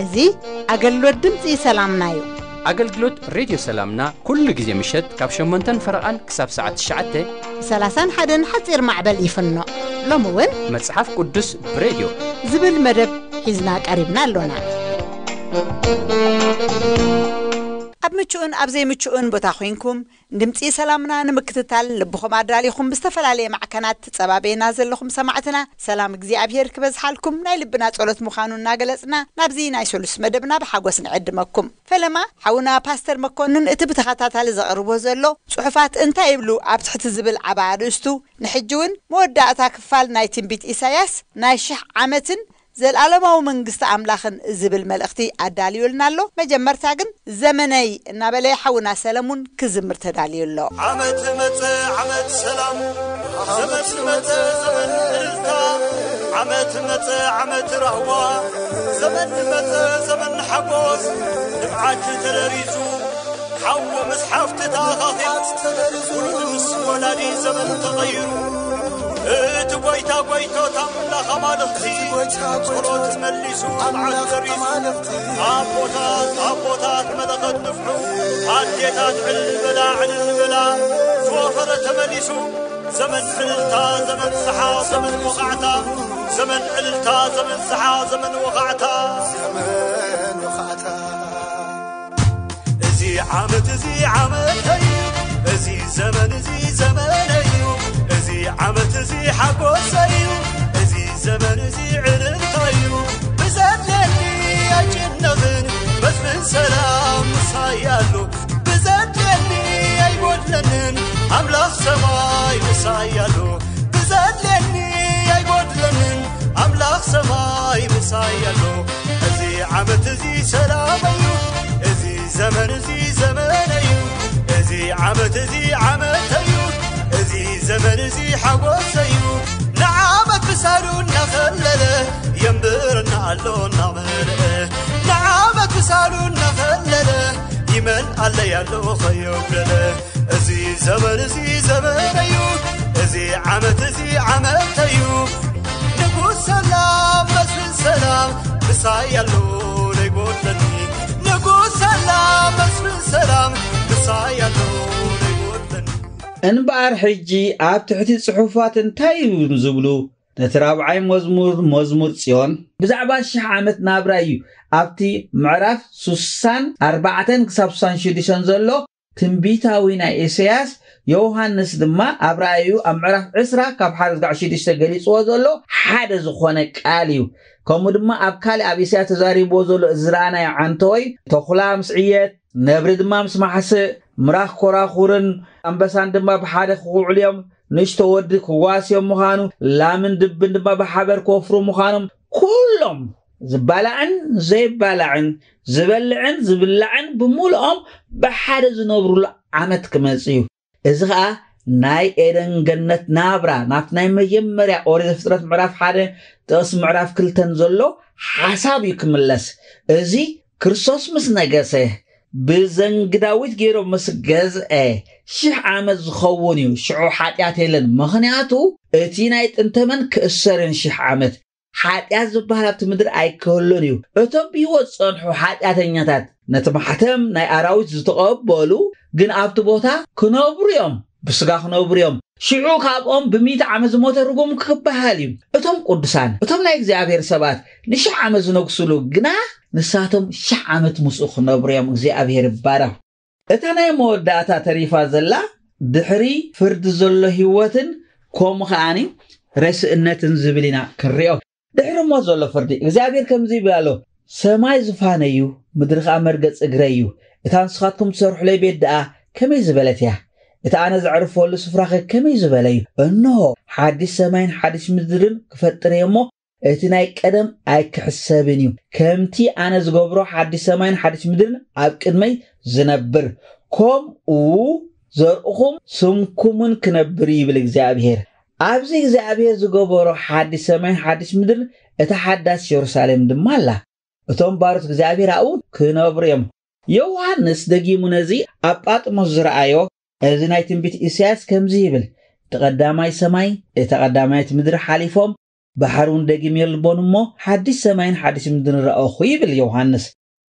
እዚ ኣገልግሎት ድምፂ ሰላምና እዩ። ኣገልግሎት ሬድዮ ሰላምና ኩሉ ግዜ ምሸት ካብ ሸሞንተን ፈረቓን ክሳብ ሰዓት ትሽዓተ። ብ ሰላሳን ሓደን ሓፂር ማዕበል ይፍኖ። ሎሚ እውን መጽሓፍ ቅዱስ ብሬድዮ ዝብል መደብ ሒዝና ቀሪብና ኣሎና። ኣብ ምቹእን ኣብ ዘይምቹእን ቦታ ኮይንኩም ድምፂ ሰላምና ንምክትታል ልብኹም ኣዳሊኹም ብዝተፈላለየ ማዕከናት ትጸባበየና ዘለኹም ሰማዕትና ሰላም እግዚኣብሔር ክበዝሓልኩም ናይ ልብና ጸሎት ምዃኑ እናገለጽና ናብዚ ናይ ሰሉስ መደብና ብሓጎስ ንዕድመኩም። ፈለማ ሓውና ፓስተር መኮንን እቲ ብተኸታታሊ ዘቕርቦ ዘሎ ጽሑፋት እንታይ ይብሉ ኣብ ትሕቲ ዝብል ዓቢ ኣርእስቱ ንሕጂ እውን መወዳእታ ክፋል ናይ ትንቢት ኢሳያስ ናይ ሽሕ ዓመትን ዘልኣለማዊ መንግስቲ ኣምላኽን ዝብል መልእኽቲ ኣዳልዩልና ኣሎ። መጀመርታ ግን ዘመነይ እናበለ ሓውና ሰለሙን ክዝምር ተዳልዩ ኣሎ። ዓመት መጸ ዓመት ሰላም፣ ዘመን መጸ ዘመን እልልታ፣ ዓመት መጸ ዓመት ራህዋ፣ ዘመን መጸ ዘመን ሓጎስ፣ ንብዓት ተደሪሱ፣ ሓው ምስ ሓፍቲ ተኣኻኺቡ፣ ውሉድ ምስ ወላዲ ዘመን ተቐይሩ። እቲ ጎይታ ጎይቶት ኣምላኽ ኣማልኽቲ፣ ጸሎት መሊሱ፣ መዓት ደሪሱ። ኣቦታት ኣቦታት መለኸት ንፍሑ፣ ኣዴታት ዕልል በላ ዕልል በላ። ዝወፈረ ተመሊሱ፣ ዘመን ዕልልታ ዘመን ዝሓ ዘመን ወኻዕታ፣ ዘመን ዕልልታ ዘመን ዝሓ ዘመን ወኻዕታ። ዘመን ወኻዕታ። እዚ ዓመት እዚ ዓመተይ እዩ፣ እዚ ዘመን እዚ ዘመነይ እዩ። እዚ ዓመት እዚ ሓጎሰይ እዩ፣ እዚ ዘመን እዚ ዕልልታይ እዩ። ብዘድልየኒ ኣይጭነቕን፣ መስፍን ሰላም ምሳይ ኣሎ። ብዘድልየኒ ኣይጎድለንን፣ ኣምላኽ ሰማይ ምሳይ ኣሎ። ብዘድልየኒ ኣይጎድለንን፣ ኣምላኽ ሰማይ ምሳይ ኣሎ። እዚ ዓመት እዚ ሰላመይ እዩ፣ እዚ ዘመን እዚ ዘመነይ እዩ። እዚ ዓመት እዚ ዓመተይ እዩ፣ እዚ ዘመን እዚ ሓጎሰይ እዩ። ንዓመት ክሳዱ እናኸለለ፣ የንብረና ኣሎ እናመልአ። ንዓመት ክሳዱ እናኸለለ፣ ይመልኣለይ ኣሎ ከየጉደለ። እዚ ዘመን እዚ ዘመነይ እዩ፣ እዚ ዓመት እዚ ዓመተይ እዩ። ንጉስ ሰላም መስፍን ሰላም ምሳይ ኣሎ ዘይጎድለኒ። ንጉስ ሰላም መስፍን ሰላም ምሳይ ኣሎ ዘይጎድለኒ። እምበኣር ሕጂ ኣብ ትሕቲ ጽሑፋት እንታይ እዮም ዝብሉ? ነቲ ራብዓይ መዝሙር፣ መዝሙር ጽዮን፣ ብዛዕባ ሽሕ ዓመት ናብራ እዩ ኣብቲ ምዕራፍ ሱሳን ኣርባዕተን ክሳብ ሱሳን ሽዱሽተን ዘሎ ትንቢታዊ ናይ ኢሳያስ፣ ዮሃንስ ድማ ኣብ ራእዩ ኣብ ምዕራፍ ዕስራ ካብ ሓደ እስካዕ ሽዱሽተ ገሊጽዎ ዘሎ ሓደ ዝኾነ ቃል እዩ። ከምኡ ድማ ኣብ ካልእ ኣብ ኢሳያስ ተዛሪብዎ ዘሎ እዚ ዝረኣናዮ ዓንተወይ፣ ተኹላ ምስ ዕየት፣ ነብሪ ድማ ምስ ማሕስእ፣ ምራኽ ኮራኹርን ኣንበሳን ድማ ብሓደ ክውዕሉ እዮም፣ ንእሽቶ ወዲ ክዋስዮም ምዃኑ፣ ላምን ድብን ድማ ብሓበር ክወፍሩ ምዃኖም፣ ኩሎም ዝባላዕን ዘይባላዕን፣ ዝበልዕን ዝብላዕን ብምልኦም ብሓደ ዝነብሩሉ ዓመት ክመጽእ እዩ። እዚ ኸኣ ናይ ኤደን ገነት ናብራ፣ ናብቲ ናይ መጀመርያ ኦሪት ዘፍጥረት ምዕራፍ ሓደ ጥቕሲ ምዕራፍ ክልተን ዘሎ ሓሳብ እዩ ክምለስ። እዚ ክርስቶስ ምስ ነገሰ፣ ብዘንጊ ዳዊት ገይሩ ምስ ገዝአ፣ ሽሕ ዓመት ዝኸውን እዩ። ሽዑ ሓጢኣት የለን። ምኽንያቱ፣ እቲ ናይ ጥንተመን ክእሰርን ሽሕ ዓመት፣ ሓጢኣት ዝበሃል ኣብቲ ምድሪ ኣይክህሉን እዩ። እቶም ብህይወት ዝጸንሑ ሓጢኣተኛታት፣ ነቲ ማሕተም ናይ ኣራዊት ዝተቐበሉ ግን ኣብቲ ቦታ ክነብሩ እዮም። ብስጋ ክነብሩ እዮም። ሽዑ ካብኦም ብሚእቲ ዓመት ዝሞተ ርጉም ክበሃል እዩ። እቶም ቅዱሳን፣ እቶም ናይ እግዚኣብሔር ሰባት ንሽሕ ዓመት ዝነግሱሉ ግና ንሳቶም ሽሕ ዓመት ምስኡ ክነብሩ እዮም። እግዚኣብሔር ይባረኽ። እታ ናይ መወዳእታ ተሪፋ ዘላ ድሕሪ ፍርዲ ዘሎ ህይወትን ከምኡ ከኣኒ ረስእነትን ዝብል ኢና ክንሪኦ። ድሕሪ ሞት ዘሎ ፍርዲ እግዚኣብሔር ከምዚ ይብል ኣሎ፣ ሰማይ ዝፋነይ እዩ፣ ምድሪ ኸኣ መርገጽ እግረይ እዩ። እታ ንስኻትኩም ትሰርሑለይ ቤት ደኣ ከመይ ዝበለት እያ? እቲ ኣነ ዘዕርፈሉ ስፍራኸ ከመይ ዝበለ እዩ? እንሆ፣ ሓድሽ ሰማይን ሓድሽ ምድርን ክፈጥር እየ እሞ፣ እቲ ናይ ቀደም ኣይክሕሰብን እዩ። ከምቲ ኣነ ዝገብሮ ሓድሽ ሰማይን ሓድሽ ምድርን ኣብ ቅድመይ ዝነብር፣ ከምኡ ዘርእኹም ስምኩምን ክነብር እዩ ይብል እግዚኣብሔር። ኣብዚ እግዚኣብሔር ዝገበሮ ሓድሽ ሰማይን ሓድሽ ምድርን እታ ሓዳስ የሩሳሌም ድማ ኣላ። እቶም ባሮት እግዚኣብሔር ኣብኡ ክነብሩ እዮም። ዮሃንስ ደጊሙ ነዚ ኣብ ጳጥሞስ ዝረኣዮ፣ እዚ ናይ ትንቢት ኢሳያስ ከምዚ ይብል፣ እቲ ቀዳማይ ሰማይ፣ እታ ቀዳማይት ምድሪ ሓሊፎም፣ ባሕሪ እውን ደጊም የልቦን እሞ፣ ሓድሽ ሰማይን ሓድሽ ምድርን ረኣኹ ይብል ዮሃንስ።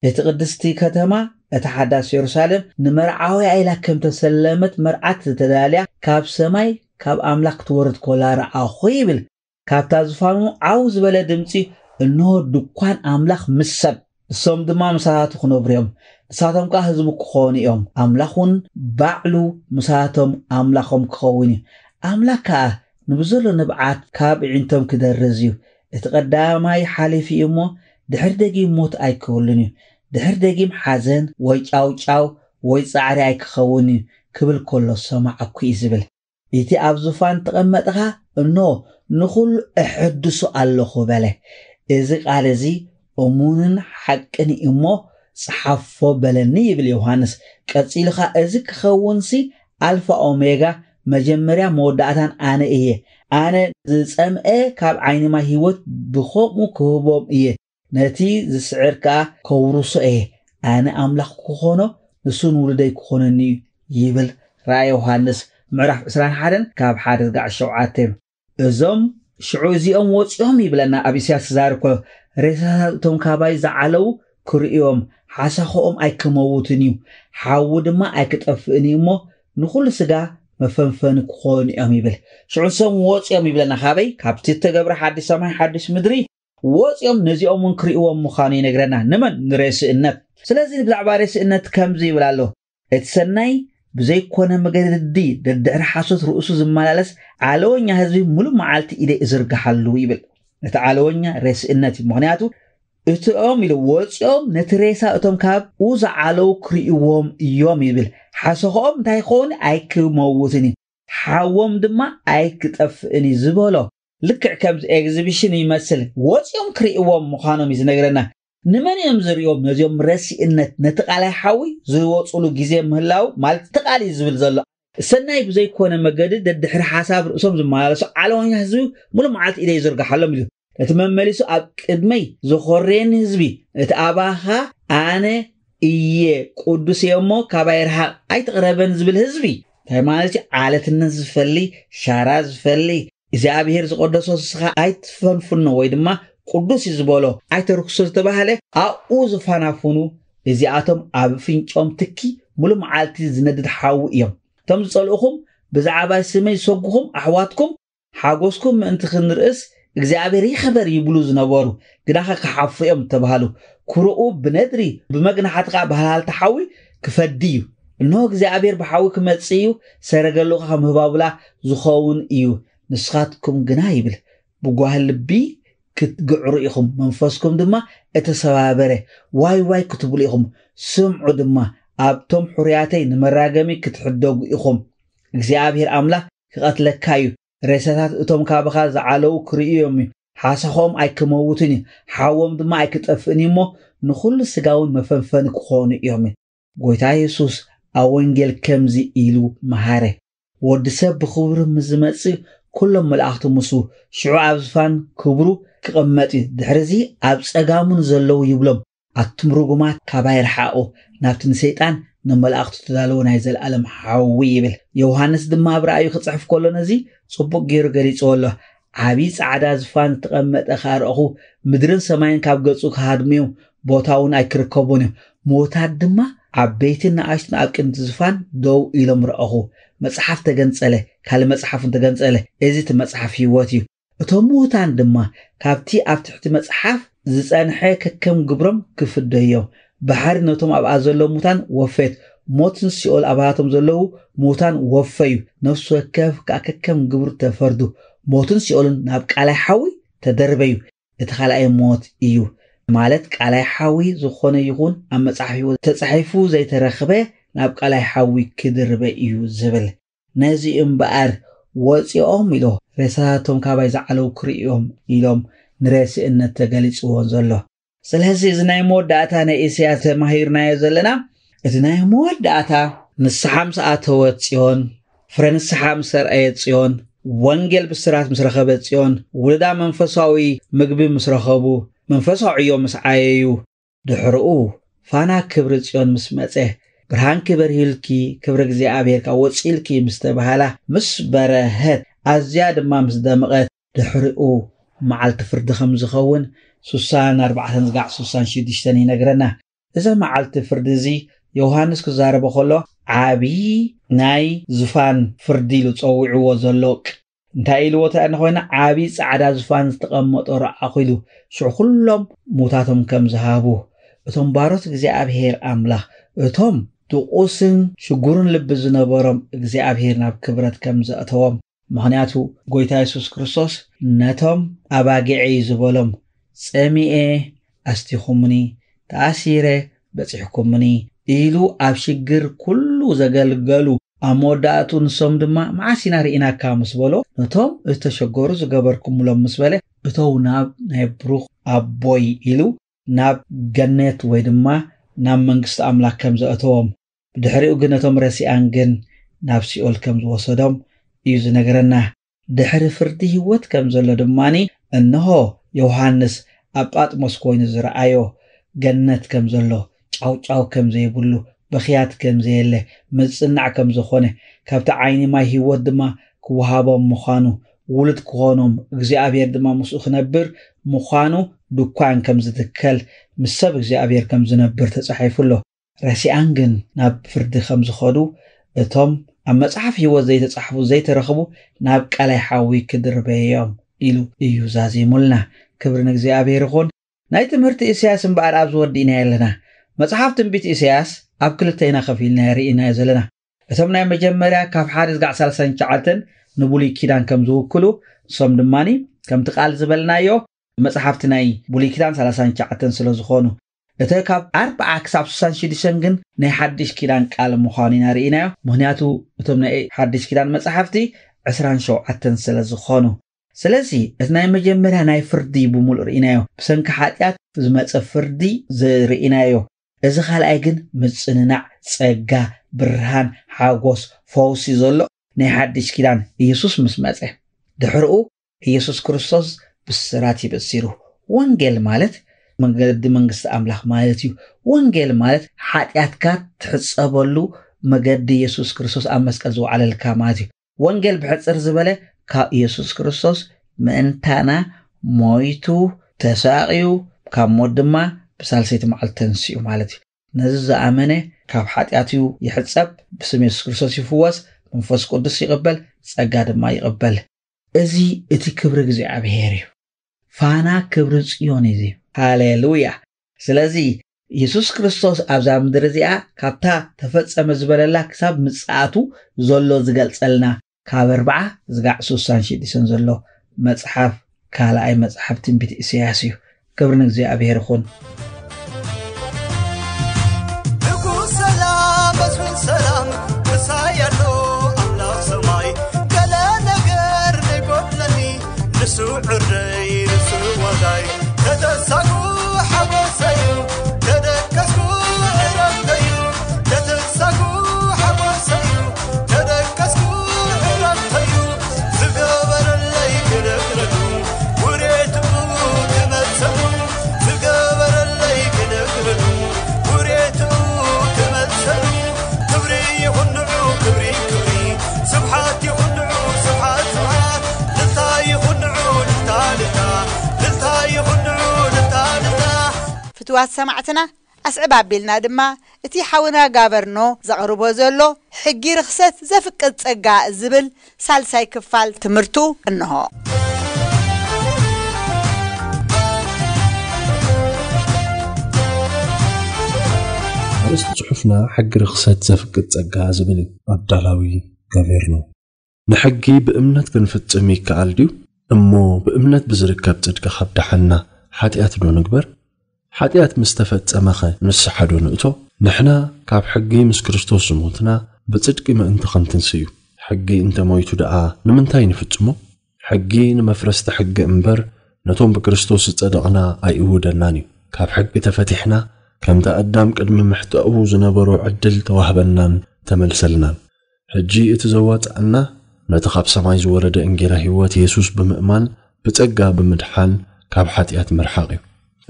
እቲ ቅድስቲ ከተማ፣ እታ ሓዳስ የሩሳሌም፣ ንመርዓውያ ኢላ ከም ተሰለመት መርዓት ዝተዳልያ፣ ካብ ሰማይ ካብ ኣምላኽ ትወርድ ኮላ ረኣኹ ይብል። ካብታ ዝፋኑ ዓው ዝበለ ድምፂ፣ እንሆ ድኳን ኣምላኽ ምስ ሰብ፣ እሶም ድማ ምሳታቱ ክነብሩ እዮም። ንሳቶም ከኣ ህዝቡ ክኾኑ እዮም። ኣምላኽ እውን ባዕሉ ምሳቶም ኣምላኾም ክኸውን እዩ። ኣምላኽ ከኣ ንብዘሎ ንብዓት ካብ እዒንቶም ክደርዝ እዩ። እቲ ቀዳማይ ሓሊፉ እዩ እሞ፣ ድሕር ደጊም ሞት ኣይክህሉን እዩ። ድሕር ደጊም ሓዘን ወይ ጫውጫው ወይ ጻዕሪ ኣይክኸውን እዩ ክብል ከሎ ሰማዕኩ እዩ ዝብል። እቲ ኣብ ዙፋን ተቐመጥኻ፣ እኖ ንኹሉ እሕድሱ ኣለኹ በለ። እዚ ቃል እዚ እሙንን ሓቅን እዩ እሞ፣ ጸሓፎ በለኒ ይብል ዮሃንስ። ቀጺሉኻ፣ እዚ ክኸውንሲ ኣልፋ ኦሜጋ፣ መጀመርያ መወዳእታን ኣነ እየ። ኣነ ዝጸምአ ካብ ዓይኒ ማይ ህይወት ብኸምኡ ክህቦም እየ። ነቲ ዝስዕር ከኣ ከውርሶ እየ። ኣነ ኣምላኽ ክኾኖ፣ ንሱ ንውሉደይ ክኾነኒ እዩ ይብል። ራእይ ዮሃንስ ምዕራፍ ዕስራን ሓደን ካብ ሓደ ዝጋዕ ሸውዓተ። እዞም ሽዑ እዚኦም ወፂኦም ይብለና ኣብ ኢሳያስ ክዛረብ ከሎ፣ ሬሳታት እቶም ካባይ ዝዓለዉ ክርእዮም፣ ሓሳኽኦም ኣይክመውትን እዩ፣ ሓዊ ድማ ኣይክጠፍእን እዩ እሞ፣ ንኹሉ ስጋ መፈንፈኒ ክኾኑ እዮም ይብል። ሽዑ ንሶም ወፂኦም ይብለና። ካበይ? ካብቲ እተገብረ ሓድሽ ሰማይ ሓድሽ ምድሪ ወፂኦም፣ ነዚኦም እውን ክርእዎም ምዃኑ ይነግረና። ንመን? ንሬስእነት። ስለዚ ብዛዕባ ሬስእነት ከምዚ ይብል ኣሎ፣ እቲ ሰናይ ብዘይኮነ መገዲ ደድሕሪ ሓሶት ርእሱ ዝመላለስ ዓለወኛ ህዝቢ፣ ሙሉእ መዓልቲ ኢደይ እዝርግሓሉ ይብል። እቲ ዓለወኛ ሬስእነት እዩ። ምኽንያቱ እቲኦም ኢሉ ወፂኦም ነቲ ሬሳ እቶም ካብኡ ዝዓለዉ ክርእይዎም እዮም ይብል። ሓሰኽኦም እንታይ ክኸውን? ኣይክመውትን እዩ፣ ሓዎም ድማ ኣይክጠፍእን እዩ ዝበሎ። ልክዕ ከምዚ ኤግዚቢሽን ይመስል፣ ወፂኦም ክርእይዎም ምዃኖም እዩ ዝነግረና። ንመን እዮም ዝርእዮም? ነዚኦም ረሲእነት፣ ነቲ ቃላይ ሓዊ ዝወፅሉ ግዜ ምህላው ማለት እቲ ቃል እዩ ዝብል ዘሎ። ሰናይ ብዘይኮነ መገዲ ደድሕሪ ሓሳብ ርእሶም ዝመላለሱ ዓለወኛ ህዝቢ፣ ሙሉእ መዓልቲ ኢደይ ይዝርግሓሎም ኢሉ። እቲ መመሊሱ ኣብ ቅድመይ ዝኾርየኒ ህዝቢ፣ እቲ ኣባኻ ኣነ እየ፣ ቅዱስ እየ እሞ ካባይ ርሓቕ፣ ኣይትቕረበን ዝብል ህዝቢ፣ እንታይ ማለት እዩ? ዓለትነት ዝፈሊ፣ ሻራ ዝፈሊ፣ እግዚኣብሔር ዝቐደሶ ንስኻ ኣይትፈንፍኖ ወይ ድማ ቅዱስ እዩ ዝበሎ ኣይተርክሶ ዝተባህለ ኣብኡ ዝፋናፍኑ፣ እዚኣቶም ኣብ ፍንጮም ትኪ ሙሉእ መዓልቲ ዝነድድ ሓዊ እዮም። እቶም ዝጸልኡኹም፣ ብዛዕባ ስመይ ዝሰጉኹም ኣሕዋትኩም፣ ሓጎስኩም ምእንቲ ክንርእስ እግዚኣብሔር ይኽበር ይብሉ ዝነበሩ፣ ግናኸ ክሓፍሩ እዮም እተባህሉ። ኩርኡ ብነድሪ፣ ብመግናሕቲ ኸኣ ብሃልሃልቲ ሓዊ ክፈዲ እዩ። እንሆ እግዚኣብሔር ብሓዊ ክመጽእ እዩ፣ ሰረገሉ ኸኣ ከም ህባቡላ ዝኸውን እዩ። ንስኻትኩም ግና ይብል፣ ብጓህ ልቢ ክትግዕሩ ኢኹም፣ መንፈስኩም ድማ እተሰባበረ፣ ዋይ ዋይ ክትብሉ ኢኹም። ስምዑ ድማ፣ ኣብቶም ሕሩያተይ ንመራገሚ ክትሕደጉ ኢኹም። እግዚኣብሔር ኣምላኽ ክቐትለካ እዩ። ሬሳታት እቶም ካባኻ ዝዓለዉ ክርእዩ እዮም እዩ። ሓሳኾም ኣይክመውትን እዩ፣ ሓዎም ድማ ኣይክጠፍእን እዩ እሞ፣ ንኹሉ ስጋ እውን መፈንፈኒ ክኾኑ እዮም እዩ። ጎይታ የሱስ ኣብ ወንጌል ከምዚ ኢሉ መሃረ፣ "ወዲ ሰብ ብኽብሩ ምስ ዝመጽእ፣ ኩሎም መላእኽቱ ምስኡ፣ ሽዑ ኣብ ዝፋን ክብሩ ክቕመጥ እዩ። ድሕርዚ ኣብ ጸጋሙ ንዘለዉ ይብሎም፣ ኣቱም ርጉማት ካባይ ርሓቑ፣ ናብቲ ንሰይጣን ንመላእኽቱ ተዳለወ ናይ ዘለኣለም ሓዊ" ይብል። ዮሃንስ ድማ ኣብ ራእዩ ክጽሕፍ ከሎ ነዚ ጽቡቕ ገይሩ ገሊጽዎ ኣሎ። ዓቢ ጻዕዳ ዝፋን ዝተቐመጠ ከኣ ረኣኹ፣ ምድርን ሰማይን ካብ ገጹ ክሃድሙ እዮም፣ ቦታ እውን ኣይክርከቦን እዮም። ምዉታት ድማ ዓበይትን ንኣሽቱን ኣብ ቅድሚ ዝፋን ደው ኢሎም ረኣኹ። መጽሓፍ ተገንጸለ፣ ካልእ መጽሓፍ እውን ተገንጸለ። እዚ እቲ መጽሓፍ ህይወት እዩ። እቶም ምዉታን ድማ ካብቲ ኣብ ትሕቲ መጽሓፍ ዝጸንሐ ከከም ግብሮም ክፍደዩ እዮም። ባሕሪ ነቶም ኣብኣ ዘለዉ ምዉታን ወፈየት፣ ሞትን ሲኦል ኣብኣቶም ዘለዉ ምዉታን ወፈዩ። ነፍሲ ወከፍ ከኣ ከከም ግብሩ ተፈርዱ። ሞትን ሲኦልን ናብ ቃላይ ሓዊ ተደርበዩ። እቲ ካልኣይ ሞት እዩ፣ ማለት ቃላይ ሓዊ ዝኾነ ይኹን ኣብ መጽሓፍ ህይወት ተጻሒፉ ዘይተረኽበ ናብ ቃላይ ሓዊ ክድርበ እዩ ዝብል። ነዚ እምበኣር ወጺኦም ኢሎ ሬሳታቶም ካባይ ዝዓለዉ ክርእዮም ኢሎም ንሬስእነት ተገሊጽዎ ዘሎ። ስለዚ እዚ ናይ መወዳእታ ናይ ኢሳያስ ተማሂርናዮ ዘለና፣ እቲ ናይ መወዳእታ ንስሓ ምስ ኣተወት ጽዮን፣ ፍረ ንስሓ ምስ ኣርኣየት ጽዮን፣ ወንጌል ብስራት ምስ ረኸበት ጽዮን፣ ውሉዳ መንፈሳዊ ምግቢ ምስ ረኸቡ፣ መንፈሳዊ ዕዮ ምስ ዓየዩ፣ ድሕርኡ ፋና ክብሪ ጽዮን ምስ መጸ፣ ብርሃንኪ በርሂልኪ፣ ክብሪ እግዚኣብሔር ከኣ ወጺልኪ ምስ ተባህላ፣ ምስ በረሀት፣ ኣዝያ ድማ ምስ ደመቐት፣ ድሕርኡ መዓልቲ ፍርዲ ከም ዝኸውን ሱሳን ኣርባዕተን ዝጋዕ ሱሳን ሽዱሽተን ይነግረና። እዛ መዓልቲ ፍርዲ እዚ ዮሃንስ ክዛረቦ ከሎ ዓቢ ናይ ዙፋን ፍርዲ ኢሉ ጸዊዕዎ ዘሎ ቅ-፣ እንታይ ኢልዎ ተኣ እንኾይና፣ ዓቢ ጻዕዳ ዙፋን ዝተቐመጦ ረኣኹ ኢሉ። ሽዑ ኩሎም ሙታቶም ከም ዝሃቡ፣ እቶም ባሮት እግዚኣብሔር ኣምላኽ፣ እቶም ድቑስን ሽጉርን ልቢ ዝነበሮም እግዚኣብሔር ናብ ክብረት ከም ዘእተዎም። ምኽንያቱ ጎይታ የሱስ ክርስቶስ ነቶም ኣባጊዐይ ዝበሎም፣ "ጸሚኤ ኣስቲኹምኒ፣ ተኣሲረ በጺሕኩምኒ" ኢሉ ኣብ ሽግር ኩሉ ዘገልገሉ፣ ኣብ መወዳእቱ ንሶም ድማ "መዓስ ኢና ርኢናካ?" ምስ በሎ፣ ነቶም ዝተሸገሩ ዝገበርኩምሎም ምስ በለ፣ "እተው ናብ ናይ ብሩኽ ኣቦይ" ኢሉ ናብ ገነት ወይ ድማ ናብ መንግስቲ ኣምላኽ ከም ዘእተዎም፣ ብድሕሪኡ ግን ነቶም ረሲኣን ግን ናብ ሲኦል ከም ዝወሰዶም እዩ ዝነግረና። ድሕሪ ፍርዲ ህይወት ከም ዘሎ ድማኒ፣ እንሆ ዮሃንስ ኣብ ጳጥሞስ ኮይኑ ዝረኣዮ ገነት ከም ዘሎ፣ ጫውጫው ከም ዘይብሉ፣ ብኽያት ከም ዘየለ፣ ምጽናዕ ከም ዝኾነ፣ ካብቲ ዓይኒ ማይ ህይወት ድማ ክወሃቦም ምዃኑ፣ ውሉድ ክኾኖም፣ እግዚኣብሔር ድማ ምስኡ ክነብር ምዃኑ ድኳን ከም ዝትከል፣ ምስ ሰብ እግዚኣብሔር ከም ዝነብር ተጻሒፉ ኣሎ። ረሲኣን ግን ናብ ፍርዲ ከም ዝኸዱ፣ እቶም ኣብ መጽሓፍ ህይወት ዘይተጻሕፉ ዘይተረኽቡ ናብ ቀላይ ሓዊ ክድርበዮም ኢሉ እዩ ዛዚሙልና። ክብሪ ንእግዚኣብሔር ይኹን። ናይ ትምህርቲ ኢሳያስ እምበኣር ኣብዚ ወዲእናዮ ኣለና። መጽሓፍ ትንቢት ኢሳያስ ኣብ ክልተ ኢና ከፊልና ርኢናዮ ዘለና። እቶም ናይ መጀመርያ ካብ ሓደ ዝጋዕ ሰላሳን ትሽዓተን ንብሉይ ኪዳን ከም ዝውክሉ፣ ንሶም ድማኒ ከምቲ ቃል ዝበልናዮ መጽሓፍቲ ናይ ብሉይ ኪዳን ሰላሳን ትሽዓተን ስለ ዝኾኑ፣ እተ ካብ ኣርብዓ ክሳብ ስሳን ሽዱሽተን ግን ናይ ሓድሽ ኪዳን ቃል ምዃኑ ኢና ርኢናዮ። ምኽንያቱ እቶም ናይ ሓድሽ ኪዳን መጽሓፍቲ ዕስራን ሸውዓተን ስለ ዝኾኑ። ስለዚ እቲ ናይ መጀመርያ ናይ ፍርዲ ብምሉእ ርኢናዮ። ብሰንኪ ሓጢኣት ዝመጸ ፍርዲ ዝርኢናዮ። እዚ ካልኣይ ግን ምጽንናዕ፣ ጸጋ፣ ብርሃን፣ ሓጎስ፣ ፈውሲ ዘሎ ናይ ሓድሽ ኪዳን ኢየሱስ ምስ መጸ። ድሕርኡ ኢየሱስ ክርስቶስ ብስራት ይበሲሩ። ወንጌል ማለት መገዲ መንግስቲ ኣምላኽ ማለት እዩ። ወንጌል ማለት ሓጢኣትካ ትሕጸበሉ መገዲ ኢየሱስ ክርስቶስ ኣብ መስቀል ዝወዓለልካ ማለት እዩ። ወንጌል ብሕጽር ዝበለ ካብ ኢየሱስ ክርስቶስ ምእንታና ሞይቱ፣ ተሳቕዩ፣ ካብ ሞት ድማ ብሳልሰይቲ መዓልቲ ተንሲኡ ማለት እዩ። ነዚ ዝኣመነ ካብ ሓጢኣቱ ይሕጸብ፣ ብስም የሱስ ክርስቶስ ይፍወስ፣ መንፈስ ቅዱስ ይቕበል፣ ጸጋ ድማ ይቕበል። እዚ እቲ ክብሪ እግዚኣብሔር እዩ። ፋና ክብሪ ጽዮን እዩ። ሃሌሉያ! ስለዚ የሱስ ክርስቶስ ኣብዛ ምድሪ እዚኣ ካብታ ተፈጸመ ዝበለላ ክሳብ ምጽኣቱ ዘሎ ዝገልጸልና ካብ ኣርብዓ ዝጋዕ ስሳን ሽዱሽተን ዘሎ መጽሓፍ ካልኣይ መጽሓፍ ትንቢት ኢሳያስ እዩ። ክብሪ ንእግዚኣብሔር ይኹን። ንጉስ ሰላም፣ መስፍን ሰላም፣ ምሳይ ኣሎ ኣምላኽ ሰማይ። ገለ ነገር ዘይጎድለኒ፣ ንሱ ዕርደይ፣ ንሱ ዋጋይ። ተተሳኩ ሓጎሰዩ፣ ተደከስኩ ዕረፍተዩ። ተተሳኩ ሓጎሰዩ፣ ተደከስኩ ዕረፍተዩ። ዝገበረለይ ክነግረሉ፣ ውሬቱ ክመልሰሉ። ዝገበረለይ ክነግረሉ፣ ውሬቱ ክመልሰሉ። ክብሪ ይኹን ንዑ፣ ክብሪ፣ ክብሪ። ስብሓት ይኹን ንዑ፣ ስብሓት፣ ስብሓት። ልልታ ይኹን ንዑ፣ ልልታ፣ ልልታ። ልልታ ይኹን ንዑ፣ ልልታ፣ ልልታ። ፍትዋት ሰማዕትና፣ ኣስዕብ ኣቢልና ድማ እቲ ሓውና ጋቨርኖ ዘቕርቦ ዘሎ ሕጊ ርኽሰት ዘፍቅድ ጸጋ ዝብል ሳልሳይ ክፋል ትምህርቱ እንሆ። ኣርእስቲ ጽሑፍና ሕጊ ርኽሰት ዘፍቅድ ጸጋ ዝብል እዩ። ኣዳላዊ ጋቨርኖ። ንሕጊ ብእምነት ክንፍጽም ይከኣል ድዩ? እሞ ብእምነት ብዝርከብ ጽድቂ ካብ ደሓንና፣ ሓጢኣት ዶ ንግበር? ሓጢኣት ምስ ተፈጸመኸ ንስሓ ዶ ንእቶ? ንሕና ካብ ሕጊ ምስ ክርስቶስ ዝሞትና፣ ብጽድቂ ምእንቲ ክንትንስእ እዩ። ሕጊ እንተ ሞይቱ ደኣ ንምንታይ ንፍጽሞ? ሕጊ ንመፍረስቲ ሕጊ እምበር፣ ነቶም ብክርስቶስ ዝጸደቕና ኣይእውደናን እዩ። ካብ ሕጊ ተፈቲሕና፣ ከምቲ ኣዳም ቅድሚ ምሕጣኡ ዝነበሮ ዕድል ተዋህበናን ተመልሰልናን። ሕጂ እቲ ዘዋጽኣና ነቲ ካብ ሰማይ ዝወረደ እንጌራ ህይወት የሱስ ብምእማን ብጸጋ ብምድሓን ካብ ሓጢኣት ምርሓቕ እዩ።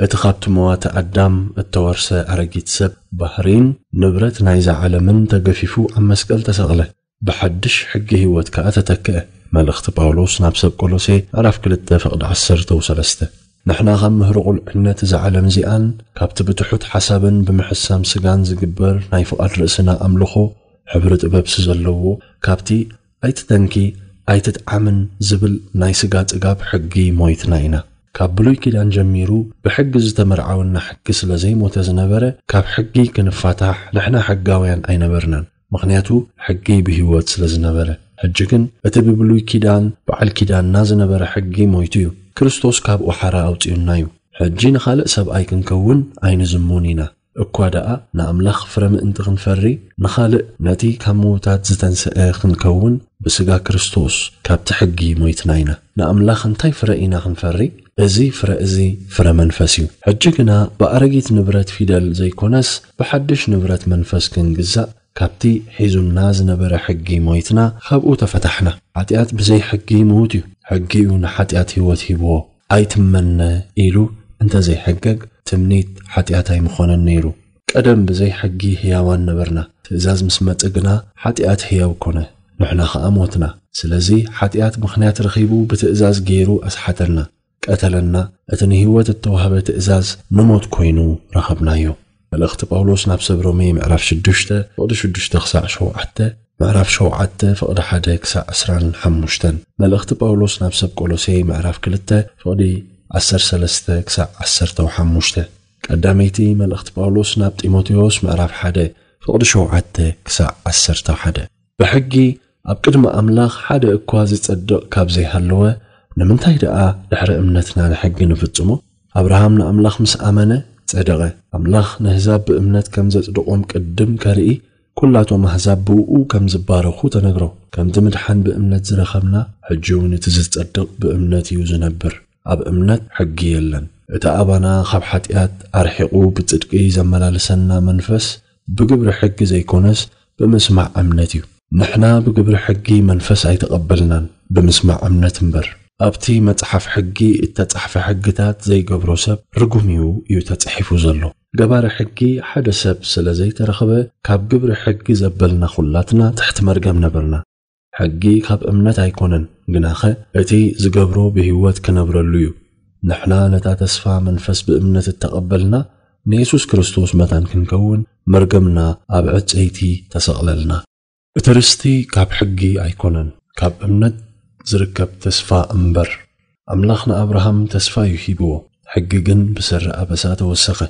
እቲ ካብቲ መዋቲ ኣዳም እተወርሰ ኣረጊት ሰብ ባህሪን ንብረት ናይዛ ዓለምን ተገፊፉ ኣብ መስቀል ተሰቕለ። ብሓድሽ ሕጊ ህይወት ከኣ ተተክአ። መልእኽቲ ጳውሎስ ናብ ሰብ ቆሎሴ ምዕራፍ ክልተ ፍቕዲ ዓሰርተ ሰለስተ። ንሕና ካብ ምህሮ ቁልዕነት እዛ ዓለም እዚኣን ካብቲ ብትሑት ሓሳብን ብምሕሳም ስጋን ዝግበር ናይ ፍቓድ ርእስና ኣምልኾ ሕብሪ ጥበብሲ ዘለዎ ካብቲ ኣይትተንኪ ኣይትጥዓምን ዝብል ናይ ስጋ ጽጋብ ሕጊ ሞይትና ኢና። ካብ ብሉይ ኪዳን ጀሚሩ ብሕጊ ዝተመርዓወና ሕጊ ስለ ዘይሞተ ዝነበረ ካብ ሕጊ ክንፋታሕ ንሕና ሕጋውያን ኣይነበርናን። ምኽንያቱ ሕጊ ብህይወት ስለ ዝነበረ። ሕጂ ግን እቲ ብብሉይ ኪዳን በዓል ኪዳንና ዝነበረ ሕጊ ሞይቱ እዩ። ክርስቶስ ካብኡ ሓራ ኣውጺኡና እዩ። ሕጂ ንኻልእ ሰብኣይ ክንከውን ኣይንዝሙን ኢና። እኳ ደኣ ንኣምላኽ ፍረ ምእንቲ ክንፈሪ ንኻልእ ነቲ ካብ ምዉታት ዝተንስአ ክንከውን ብስጋ ክርስቶስ ካብቲ ሕጊ ሞይትና ኢና። ንኣምላኽ እንታይ ፍረ ኢና ክንፈሪ? እዚ ፍረ እዚ ፍረ መንፈስ እዩ። ሕጂ ግና ብኣረጊት ንብረት ፊደል ዘይኮነስ ብሓድሽ ንብረት መንፈስ ክንግዛእ ካብቲ ሒዙና ዝነበረ ሕጊ ሞይትና ካብኡ ተፈታሕና። ሓጢኣት ብዘይ ሕጊ ምዉት እዩ። ሕጊ እዩ ንሓጢኣት ህይወት ሂብዎ። ኣይትመነ ኢሉ እንተ ዘይሕገግ ትምኒት ሓጢኣት ኣይምኾነን ነይሩ። ቀደም ብዘይ ሕጊ ህያዋን ነበርና። ትእዛዝ ምስ መጸ ግና ሓጢኣት ህያው ኮነ። ንሕና ኸኣ ሞትና። ስለዚ ሓጢኣት ምኽንያት ረኺቡ ብትእዛዝ ገይሩ ኣስሓተና፣ ቀተለና። እቲ ንህይወት እተዋህበ ትእዛዝ ንሞት ኮይኑ ረኸብናዮ። መልእኽቲ ጳውሎስ ናብ ሰብ ሮሜ ምዕራፍ ሽዱሽተ ፍቕዲ ሽዱሽተ ክሳዕ ሸውዓተ፣ ምዕራፍ ሸውዓተ ፍቕዲ ሓደ ክሳዕ ዕስራን ሓሙሽተን። መልእኽቲ ጳውሎስ ናብ ሰብ ቆሎሴ ምዕራፍ ክልተ ፍቕዲ ዓሰርተ ሰለስተ ክሳዕ ዓሰርተ ሓሙሽተ። ቀዳመይቲ መልእኽቲ ጳውሎስ ናብ ጢሞቴዎስ ምዕራፍ ሓደ ፍቕዲ ሸውዓተ ክሳዕ ዓሰርተ ሓደ። ብሕጊ ኣብ ቅድሚ ኣምላኽ ሓደ እኳ ዝጸድቕ ካብ ዘይሃለወ፣ ንምንታይ ደኣ ድሕሪ እምነትና ንሕጊ ንፍጽሞ? ኣብርሃም ንኣምላኽ ምስ ኣመነ ጸደቐ። ኣምላኽ ንህዛብ ብእምነት ከም ዘጽድቖም ቅድም ከርኢ፣ ኩላቶም ኣህዛብ ብእኡ ከም ዝባረኹ ተነግሮ። ከምቲ ምድሓን ብእምነት ዝረኸብና፣ ሕጂ እውን እቲ ዝጸድቕ ብእምነት እዩ ዝነብር። ኣብ እምነት ሕጊ የለን። እቲ ኣባና ካብ ሓጢኣት ኣርሒቑ ብጽድቂ ዘመላልሰና መንፈስ ብግብሪ ሕጊ ዘይኮነስ ብምስማዕ እምነት እዩ። ንሕና ብግብሪ ሕጊ መንፈስ ኣይተቐበልናን፣ ብምስማዕ እምነት እምበር። ኣብቲ መጽሓፍ ሕጊ እተጻሕፈ ሕግታት ዘይገብሮ ሰብ ርጉም እዩ እዩ ተጻሒፉ ዘሎ። ገባሪ ሕጊ ሓደ ሰብ ስለ ዘይተረኽበ ካብ ግብሪ ሕጊ ዘበልና ኩላትና ትሕቲ መርገም ነበርና። ሕጊ ካብ እምነት ኣይኮነን፣ ግናኸ እቲ ዝገብሮ ብህይወት ክነብረሉ እዩ። ንሕና ነታ ተስፋ መንፈስ ብእምነት እተቐበልና ንየሱስ ክርስቶስ መታን ክንከውን መርገምና ኣብ ዕጸይቲ ተሰቕለልና። እቲ ርስቲ ካብ ሕጊ ኣይኮነን፣ ካብ እምነት ዝርከብ ተስፋ እምበር። ኣምላኽ ንኣብርሃም ተስፋ እዩ ሂብዎ፣ ሕጊ ግን ብሰሪ ኣበሳ ተወሰኸ።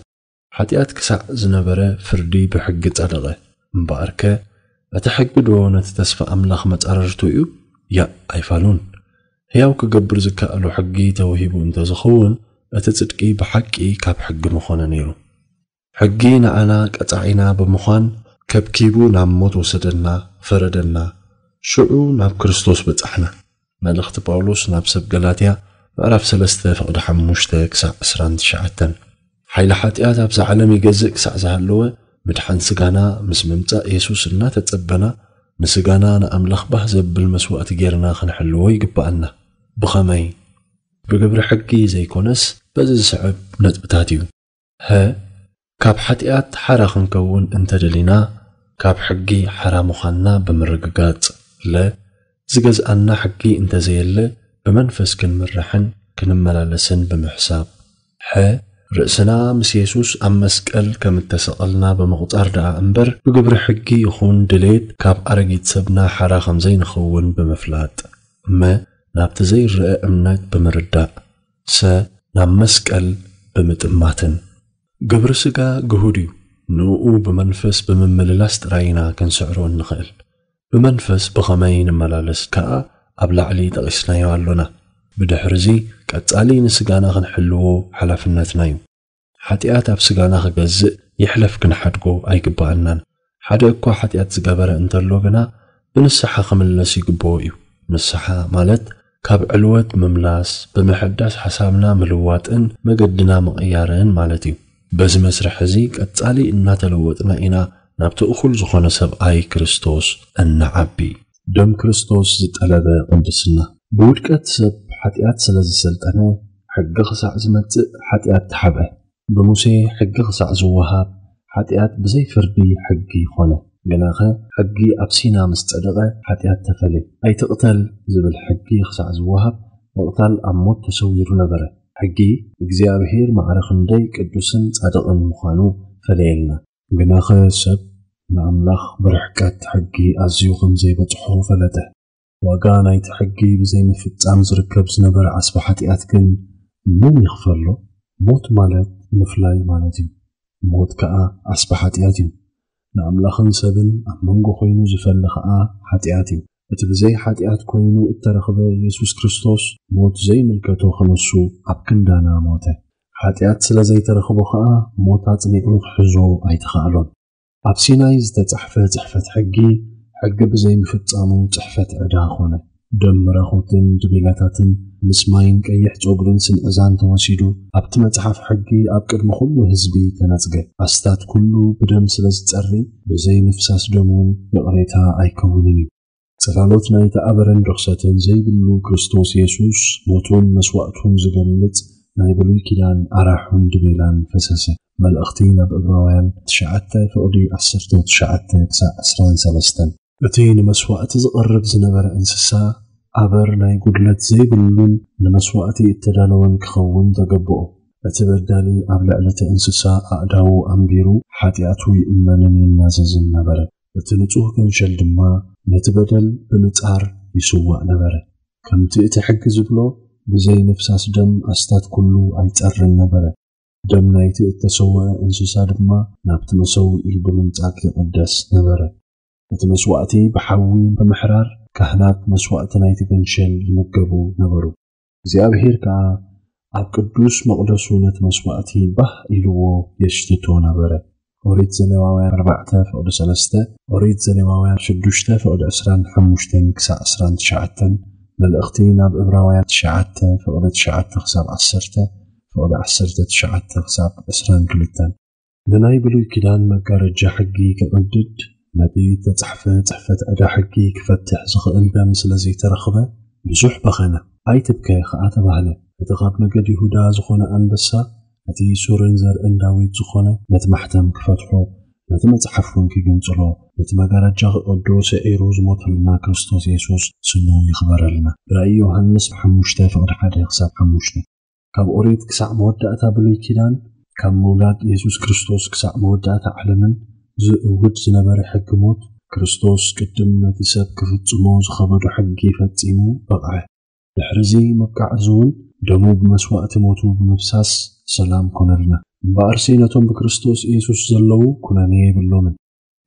ሓጢኣት ክሳዕ ዝነበረ ፍርዲ ብሕጊ ጸደቐ። እምበኣርከ እቲ ሕጊ ዶ ነቲ ተስፋ ኣምላኽ መጻረርቱ እዩ? ያእ ኣይፋሉን። ሕያው ክገብር ዝከኣሎ ሕጊ ተወሂቡ እንተ ዝኸውን እቲ ጽድቂ ብሓቂ ካብ ሕጊ ምኾነ ነይሩ። ሕጊ ንዓና ቀጻዒና ብምዃን ከብኪቡ ናብ ሞት ወሰደና፣ ፈረደና። ሽዑ ናብ ክርስቶስ በጻሕና። መልእኽቲ ጳውሎስ ናብ ሰብ ገላትያ ምዕራፍ ሰለስተ ፍቕዲ ሓሙሽተ ክሳዕ ዕስራን ትሽዓተን። ሓይሊ ሓጢኣት ኣብዛ ዓለም ይገዝእ ክሳዕ ዝሃለወ ምድሓን ስጋና ምስ ምምጻእ የሱስ እናተጸበና ንስጋና ንኣምላኽ ባህ ዘብል መስዋእቲ ጌርና ክንሕልዎ ይግብኣና። ብኸመይ? ብግብሪ ሕጊ ዘይኮነስ በዚ ዝስዕብ ነጥብታት እዩ። ሀ፣ ካብ ሓጢኣት ሓራ ክንከውን እንተደሊና ካብ ሕጊ ሓራ ምዃንና ብምርግጋጽ። ለ፣ ዝገዝኣና ሕጊ እንተዘየለ ብመንፈስ ክንምራሕን ክንመላለስን ብምሕሳብ። ሐ፣ ርእስና ምስ የሱስ ኣብ መስቀል ከም እተሰቐልና ብምቑጻር ደኣ እምበር ብግብሪ ሕጊ ይኹን ድሌት ካብ ኣረጊት ሰብና ሓራ ከም ዘይንኸውን ብምፍላጥ። መ፣ ናብቲ ዘይረኣ እምነት ብምርዳእ። ሰ፣ ናብ መስቀል ብምጥማትን። ግብሪ ስጋ ግሁድ እዩ። ንእኡ ብመንፈስ ብምምልላስ ጥራይ ኢና ክንስዕሮ እንኽእል። ብመንፈስ ብኸመይ ንመላለስ ከኣ ኣብ ላዕሊ ጠቒስናዮ ኣሎና። ብድሕርዚ ቀጻሊ ንስጋና ክንሕልዎ ሓላፍነትና እዩ። ሓጢኣት ኣብ ስጋና ክገዝእ ይሕለፍ ክንሓድጎ ኣይግብኣናን። ሓደ እኳ ሓጢኣት ዝገበረ እንተሎ ግና ብንስሓ ክምለስ ይግብኦ እዩ። ንስሓ ማለት ካብ ዕልወት ምምላስ፣ ብምሕዳስ ሓሳብና ምልዋጥን መገድና ምቕያርን ማለት እዩ። በዚ መስርሕ እዚ ቀጻሊ እናተለወጥና ኢና ናብቲ እኹል ዝኾነ ሰብኣይ ክርስቶስ እንዓቢ። ደም ክርስቶስ ዝጠለበ ቅድስና። ብውድቀት ሰብ ሓጢኣት ስለ ዝሰልጠነ፣ ሕጊ ክሳዕ ዝመጽእ ሓጢኣት ተሓብአ። ብሙሴ ሕጊ ክሳዕ ዝወሃብ፣ ሓጢኣት ብዘይ ፍርዲ ሕጊ ኾነ። ግናኸ፣ ሕጊ ኣብ ሲና ምስ ጸደቐ፣ ሓጢኣት ተፈልየ። ኣይትቕተል ዝብል ሕጊ ክሳዕ ዝወሃብ፣ ምቕታል ኣብ ሞት ተሰዊሩ ነበረ። ሕጊ፣ እግዚኣብሔር ማዕረ ክንደይ ቅዱስን ጻድቕን ምዃኑ ፈለየልና። ግናኸ፣ ሰብ ንኣምላኽ ብርሕቀት ሕጊ ኣዝዩ ከም ዘይበጽሖ ፈለጠ። ዋጋ ናይቲ ሕጊ ብዘይምፍጻም ዝርከብ ዝነበረ ዓስቢ ሓጢኣት ግን መን ይኽፈሎ? ሞት ማለት ምፍላይ ማለት እዩ። ሞት ከኣ ዓስቢ ሓጢኣት እዩ። ንኣምላኽን ሰብን ኣብ መንጎ ኮይኑ ዝፈሊ ከኣ ሓጢኣት እዩ። እቲ ብዘይ ሓጢኣት ኮይኑ እተረኽበ የሱስ ክርስቶስ ሞት ዘይምልከቶ ክነሱ ኣብ ክንዳና ሞተ። ሓጢኣት ስለ ዘይተረኽቦ ከኣ ሞት ኣጽኒዑ ክሕዞ ኣይተኻእሎን። ኣብ ሲናይ ዝተጻሕፈ ጽሕፈት ሕጊ፣ ሕጊ ብዘይምፍጻሙ ጽሕፈት ዕዳ ኾነ። ደም ምራኹትን ድቤላታትን ምስ ማይን ቀይሕ ጸጉርን ስንዕዛን ተወሲዱ፣ ኣብቲ መጽሓፍ ሕጊ ኣብ ቅድሚ ኩሉ ህዝቢ ተነጽገ። ኣስታት ኩሉ ብደም ስለ ዝጸሪ፣ ብዘይ ምፍሳስ ደም እውን ይቕሬታ ኣይከውንን እዩ። ጽላሎት ናይቲ ኣበረን ርኽሰትን ዘይብሉ ክርስቶስ የሱስ ሞቱን መስዋእቱን ዝገልጽ ናይ ብሉይ ኪዳን ኣራሑን ድቤላን ፈሰሰ። መልእኽቲ ናብ ዕብራውያን ትሽዓተ ፍቕዲ ዓሰርተ ትሽዓተ ክሳዕ ዕስራን ሰለስተን። እቲ ንመስዋእቲ ዝቐርብ ዝነበረ እንስሳ ኣበር ናይ ጉድለት ዘይብሉን ንመስዋእቲ እተዳለወን ክኸውን ተገብኦ። እቲ በዳሊ ኣብ ልዕሊ እቲ እንስሳ ኣእዳዉ ኣንቢሩ ሓጢኣቱ ይእመንን ይናዘዝን ነበረ። እቲ ንጹህ ገንሸል ድማ ነቲ በደል ብምጻር ይስዋእ ነበረ። ከምቲ እቲ ሕጊ ዝብሎ ብዘይ ምፍሳስ ደም ኣስታት ኩሉ ኣይጸርን ነበረ። ደም ናይቲ እተሰውአ እንስሳ ድማ ናብቲ መሰውኢ ብምንጻግ ይቕደስ ነበረ። እቲ መስዋእቲ ብሓዊ ብምሕራር ካህናት መስዋእቲ ናይቲ ገንሸል ይምገቡ ነበሩ። እግዚኣብሔር ከኣ ኣብ ቅዱስ መቕደሱ ነቲ መስዋእቲ ባህ ኢልዎ የሽትቶ ነበረ። ኦሪት ዘሌዋውያን ኣርባዕተ ፍቕዲ ሰለስተ፣ ኦሪት ዘሌዋውያን ሽዱሽተ ፍቕዲ ዕስራን ሓሙሽተን ክሳዕ ዕስራን ትሽዓተን፣ መልእኽቲ ናብ ዕብራውያን ትሽዓተ ፍቕዲ ትሽዓተ ክሳብ ዓሰርተ፣ ፍቕዲ ዓሰርተ ትሽዓተ ክሳብ ዕስራን ክልተን። ንናይ ብሉይ ኪዳን መጋረጃ ሕጊ ክቕድድ፣ ነቲ እተጻሕፈ ጽሕፈት ዕዳ ሕጊ ክፈትሕ ዝኽእል ደም ስለ ዘይተረኽበ፣ ብዙሕ በኸነ። ኣይትብከ ኸኣ ተባህለ። እቲ ኻብ ነገድ ይሁዳ ዝኾነ ኣንበሳ፣ እቲ ሱርን ዘርእን ዳዊት ዝኾነ፣ ነቲ ማሕተም ክፈትሖ፣ ነቲ መጽሓፍ እውን ክግንጽሎ፣ ነቲ መጋረጃ ክቐዶ ሰዒሩ ዝሞተልና ክርስቶስ የሱስ ስሙ ይኽበረልና። ራእይ ዮሃንስ ሓሙሽተ ፍቕዲ ሓደ ክሳብ ሓሙሽተ። ካብ ኦሪት ክሳዕ መወዳእታ ብሉይ ኪዳን፣ ካብ ምውላድ የሱስ ክርስቶስ ክሳዕ መወዳእታ ዓለምን ዝእውድ ዝነበረ ሕጊ ሞት፣ ክርስቶስ ቅድም ነቲ ሰብ ክፍጽሞ ዝኸበዶ ሕጊ ፈጺሙ በቕዐ። ድሕርዚ ምብቃዕ እዚ እውን ደሙ ብመስዋእቲ ሞቱ ብምፍሳስ ሰላም ኮነልና። እምበኣርሲ ነቶም ብክርስቶስ ኢየሱስ ዘለዉ ኩነኔ የብሎምን።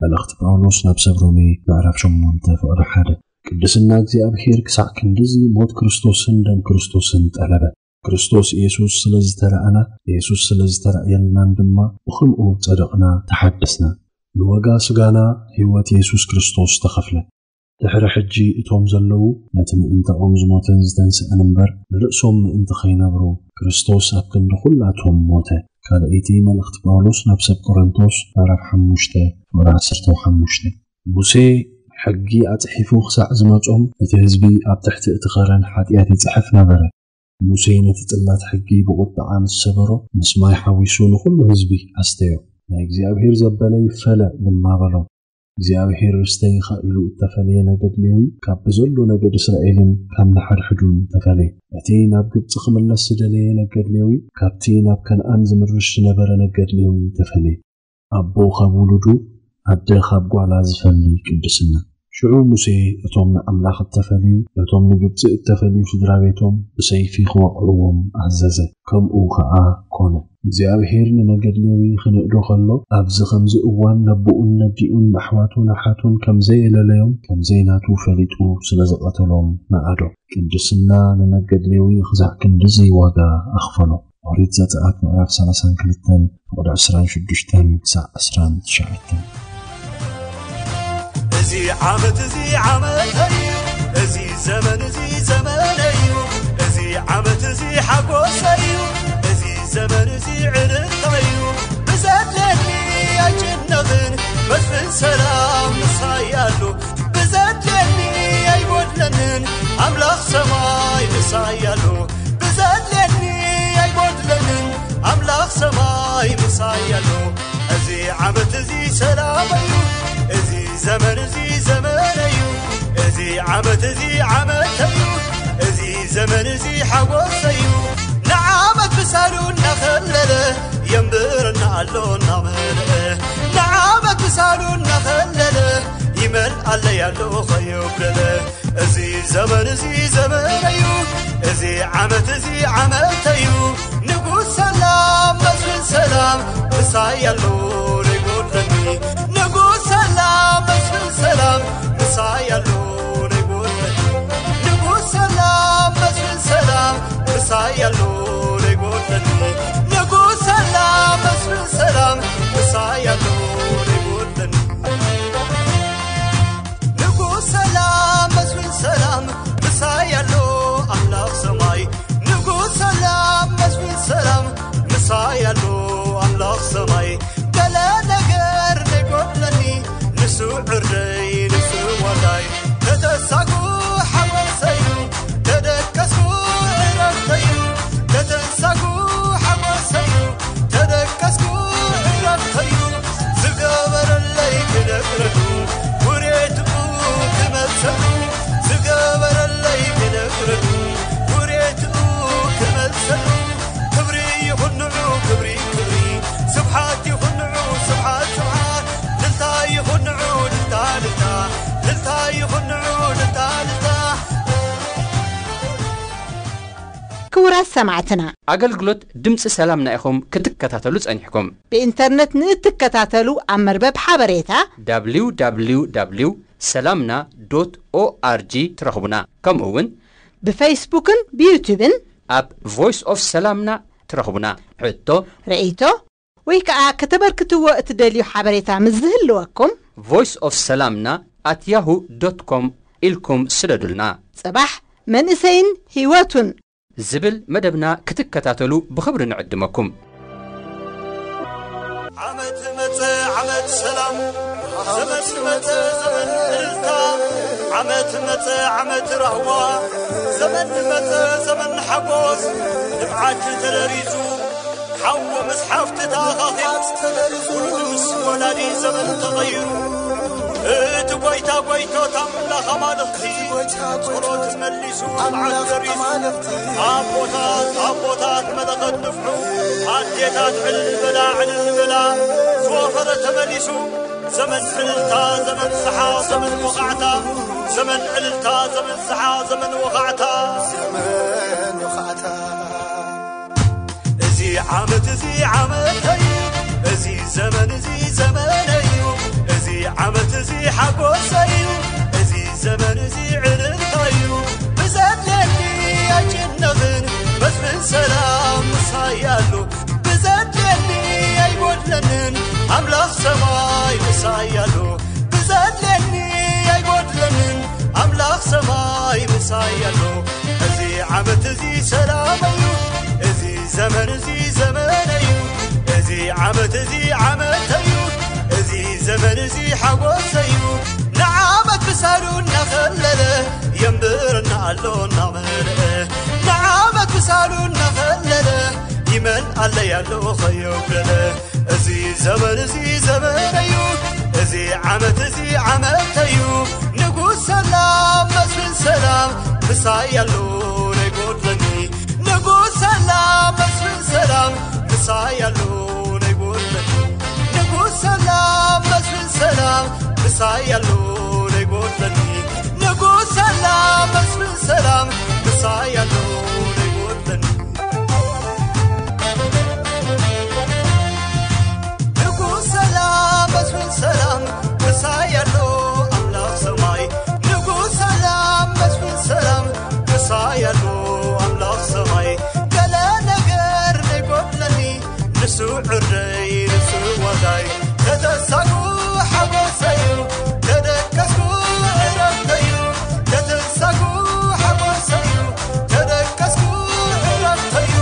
መልእኽቲ ጳውሎስ ናብ ሰብ ሮሜ ምዕራፍ ሸሞንተ ፍቕዲ ሓደ። ቅድስና እግዚኣብሔር ክሳዕ ክንድዚ ሞት ክርስቶስን ደም ክርስቶስን ጠለበ። ክርስቶስ ኢየሱስ ስለ ዝተረኣና፣ ኢየሱስ ስለ ዝተራእየልናን ድማ ብኸምኡ ጸደቕና፣ ተሓደስና። ንዋጋ ስጋና ህይወት ኢየሱስ ክርስቶስ ተኸፍለ። ድሕሪ ሕጂ እቶም ዘለዉ ነቲ ምእንታኦም ዝሞተን ዝተንስአን እምበር፣ ንርእሶም ምእንቲ ኸይነብሩ፣ ክርስቶስ ኣብ ክንዲ ኹላቶም ሞተ። ካልኣይቲ መልእኽቲ ጳውሎስ ናብ ሰብ ቆሮንቶስ ምዕራፍ ሓሙሽተ ፍቕዲ ዓሰርተ ሓሙሽተ። ሙሴ ሕጊ ኣጽሒፉ ክሳዕ ዝመጾም፣ እቲ ህዝቢ ኣብ ትሕቲ እቲ ኸረን ሓጢኣት ይጽሕፍ ነበረ። ሙሴ ነቲ ጽላት ሕጊ ብቑጥዓ ምስ ሰበሮ፣ ምስ ማይ ሓዊሱ ንኹሉ ህዝቢ ኣስተዮ። ናይ እግዚኣብሔር ዘበለ ይፈለ ድማ በሎም። እግዚኣብሔር ርስተይ ኢኻ ኢሉ እተፈለየ ነገድ ሌዊ ካብ ብዘሎ ነገድ እስራኤልን ካብ ንሓድሕዱን ተፈለየ። እቲ ናብ ግብጺ ክምለስ ዝደለየ ነገድ ሌዊ ካብቲ ናብ ከነኣን ዝምርሽ ዝነበረ ነገድ ሌዊ ተፈለየ። ኣቦ ካብ ውሉዱ፣ ኣደ ካብ ጓላ ዝፈሊ ቅድስና። ሽዑ ሙሴ እቶም ንኣምላኽ እተፈልዩ፣ ነቶም ንግብጺ እተፈልዩ ስድራ ቤቶም ብሰይፊ ክወቕዕዎም ኣዘዘ። ከምኡ ኸኣ ኮነ። እግዚኣብሔር ንነገድ ሌዊ ክንእዶ ኸሎ፣ ኣብዚ ኸምዚ እዋን ነቦኡን ነዲኡን ንኣሕዋቱን ኣሓቱን ከም ዘየለለዮም፣ ከም ዘይናቱ ፈሊጡ ስለ ዝቐተሎም ነኣዶ። ቅድስና ንነገድ ሌዊ ኽሳዕ ክንድዚ ዋጋ ኣኽፈሎ። ኦሪት ዘጸኣት ምዕራፍ ሰላሳን ክልተን ፍቕዲ ዕስራን ሽዱሽተን ክሳዕ ዕስራን ትሽዓተን። እዚ ዓመት እዚ ዓመተይ እዩ፣ እዚ ዘመን እዚ ዘመነይ እዩ፣ እዚ ዓመት እዚ ሓጎሰይ እዩ፣ እዚ ዘመን እዚ ዕልልታይ እዩ። ብዘድልየኒ ኣይጭነቕን፣ መስፍን ሰላም ምሳይ ኣሎ። ብዘድልየኒ ለንን ኣምላኽ ሰማይ ምሳይ ኣሎ። ብዘድልየኒ ኣይጎድለንን ኣምላኽ ሰማይ ምሳይ ኣሎ። እዚ ዓመት እዚ ሰላመዩ፣ እዚ ዘመን እዚ ዘመነዩ፣ እዚ ዓመት እዚ ዓመተዩ፣ እዚ ዘመን እዚ ሓጎሰዩ። ንዓመት ምሳሉ እናኸለለ የንብረና ኣሎ እናመልአ፣ ንዓመት ምሳሉ እናኸለለ ይመልኣለይ ኣሎ ኸየጉደለ። እዚ ዘመን እዚ ዘመነዩ፣ እዚ ዓመት እዚ ዓመተዩ። ንጉስ ሰላም መስፍን ሰላም ምሳይ ኣሎ ዘይጎድለኒ። ንጉስ ሰላም መስፍን ሰላም ምሳይ ኣሎ ዘይጎድለኒ። ንጉስ ሰላም መስፍን ሰላም ምሳይ ኣሎ ዘይጎድለኒ። ንጉስ ሰላም መስፍን ሰላም ምሳይ ኣሎ ዘይጎድለኒ። ንጉስ ሰላም መስፍን ሰላም ምሳይ ኣሎ ኣምላኽ ሰማይ። ንጉስ ሰላም መስፍን ሰላም ምሳይ ኣሎ ኣምላኽ ሰማይ። ገለ ነገር ዘይጎድለኒ ንሱ ዕርደይ ንሱ ዋልዳይ። ተተሳጉ ሓጎሰዩ፣ ተደቀስኩ ዕረፍተዩ። ተተሳጉ ሓጎሰዩ፣ ተደቀስኩ ዕረፍተዩ። ዝገበረለይ ክነግረሉ፣ ውሬትኡ ክመልሰሉ። ዝገበረለይ ክነግረሉ፣ ውሬትኡ ክመልሰሉ። ክብሪ ይኹን ንዑ፣ ክብሪ፣ ክብሪ። ስብሓት ይኹን ንዑ፣ ስብሓት፣ ስብሓት። ልልታ ይኹን ንዑ፣ ልልታ፣ ልልታ። ልልታ ይኹን ንዑ፣ ልልታ፣ ልልታ። ክቡራት ሰማዕትና፣ ኣገልግሎት ድምፂ ሰላምና ኢኹም ክትከታተሉ ጸኒሕኩም። ብኢንተርነት ንእትከታተሉ ኣብ መርበብ ሓበሬታ www ሰላምና .org ትረኽቡና። ከምኡ እውን ብፌስቡክን ብዩቱብን ኣብ ቮይስ ኦፍ ሰላምና ትረኽቡና። ሕቶ ርእይቶ ወይ ከዓ ከተበርክትዎ እትደልዩ ሓበሬታ ምስ ዝህልወኩም voice of ሰላምና at yahoo dot com ኢልኩም ስደዱልና። ጽባሕ መንእሰይን ህይወቱን ዝብል መደብና ክትከታተሉ ብኽብሪ ንዕድመኩም። ዓመት መጸ ዓመት ሰላም፣ ዘመን መጸ ዘመን እልልታ። ዓመት መጸ ዓመት ራህዋ፣ ዘመን መጸ ዘመን ሓጎስ። ንብዓት ተደሪዙ፣ ሓው ምስ ሓፍቲ ተኣኻኺቡ፣ ውሉድ ምስ ወላዲ ዘመን ተቐይሩ። እቲ ጐይታ ጐይቶት ኣምላኽ ኣማልኽቲ፣ ጸሎት መሊሱ መዓት ደሪሱ። ኣቦታት ኣቦታት መለኸት ንፍሑ፣ ኣዴታት ዕልል በላ ዕልል በላ። ዝወፈረ ተመሊሱ፣ ዘመን ዕልልታ ዘመን ሰሓቕ ዘመን ወቓዕታ። ዘመን ዕልልታ ዘመን ሰሓቕ ዘመን ወቓዕታ። ዘመን ወቓዕታ። እዚ ዓመት እዚ ዓመተይ፣ እዚ ዘመን እዚ ዘመነይ እዩ። እዚ ዓመት እዚ ሓጎሰይ እዩ። እዚ ዘመን እዚ ዕልልታ እዩ። ብዘድልየኒ ኣይጭነቕን፣ መስፍን ሰላም ምሳይ ኣሎ። ብዘድልየኒ ኣይጎድለንን፣ ኣምላኽ ሰማይ ምሳይ ኣሎ። ብዘድልየኒ ኣይጎድለንን፣ ኣምላኽ ሰማይ ምሳይ ኣሎ። እዚ ዓመት እዚ ሰላመዩ፣ እዚ ዘመን እዚ ዘመነዩ። እዚ ዓመት እዚ ዓመተዩ፣ እዚ ዘመን እዚ ሓጎሰዩ። ንዓመት ምሳሉ እናኸለለ የንብረና ኣሎ እናመልአ። ንዓመት ምሳሉ እናኸለለ ይመልኣለይ ኣሎ ኸየጉደለ። እዚ ዘመን እዚ ዘመነዩ፣ እዚ ዓመት እዚ ዓመተዩ። ንጉስ ሰላም መስፍን ሰላም ምሳይ ኣሎ ዘይጎድለኒ። ንጉስ ሰላም መስፍን ሰላም ምሳይ ኣሎ ዘይጎድለኒ። ንጉስ ሰላም መስፍን ሰላም ምሳይ ኣሎ ዘይጎድለኒ። ንጉስ ሰላም መስፍን ሰላም ምሳይ ኣሎ ዘይጎድለኒ። ንጉስ ሰላም መስፍን ሰላም ምሳይ ኣሎ ኣምላኽ ሰማይ። ንጉስ ሰላም መስፍን ሰላም ምሳይ ኣሎ ኣምላኽ ሰማይ። ገለ ነገር ዘይጎድለኒ ንሱ ዕርደይ ንሱ ዋልዳይ። ተተሳጉ ሓጎሰዩ፣ ተደቀስኩ ዕረፍተዩ። ተተሳጉ ሓጎሰዩ፣ ተደቀስኩ ዕረፍተዩ።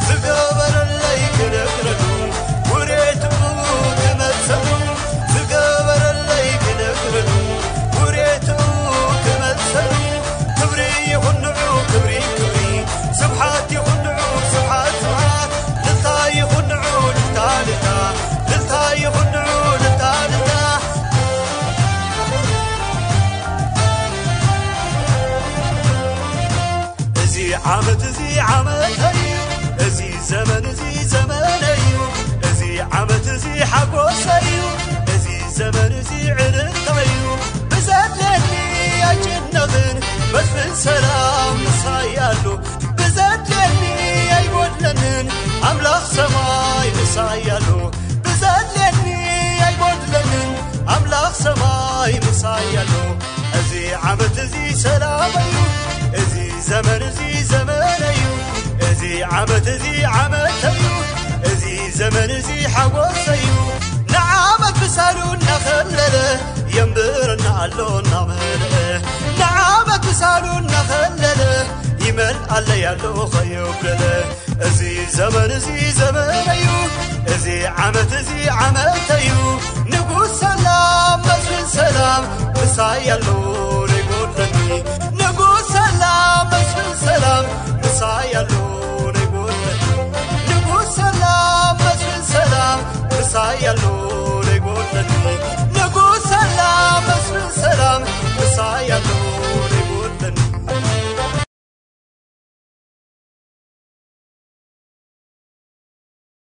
ዝገበረለይ ክነግረሉ፣ ውሬትኡ ክመልሰሉ። ዝገበረለይ ክነግረሉ፣ ውሬትኡ ክመልሰሉ። ሓጎሰይ እዩ እዚ ዘመን እዚ ዕልልታይ እዩ። ብዘድልየኒ ኣይጭነቕን መስፍን ሰላም ምሳይ ኣሎ። ብዘድልየኒ ኣይጎድለንን ኣምላኽ ሰማይ ምሳይ ኣሎ። ብዘድልየኒ ኣይጎድለንን ኣምላኽ ሰማይ ምሳይ ኣሎ። እዚ ዓመት እዚ ሰላም እዩ። እዚ ዘመን እዚ ዘመን እዩ። እዚ ዓመት እዚ ዓመት እዩ። እዚ ዘመን እዚ ሓጎስ እዩ። ንዓመት ብሳሉ እናኸለለ የንብረና ኣሎ እናመልአ። ንዓመት ብሳሉ እናኸለለ ይመልኣለይ ኣሎ ከየጉደለ። እዚ ዘመን እዚ ዘመን እዩ። እዚ ዓመት እዚ ዓመት እዩ። ንጉስ ሰላም መስፍን ሰላም ምሳይ ኣሎ ነይጎድለኒ። ንጉስ ሰላም መስፍን ሰላም ምሳይ ኣሎ ነይጎድለኒ። ንጉስ ሰላም መስፍን ሰላም ምሳይ ኣሎ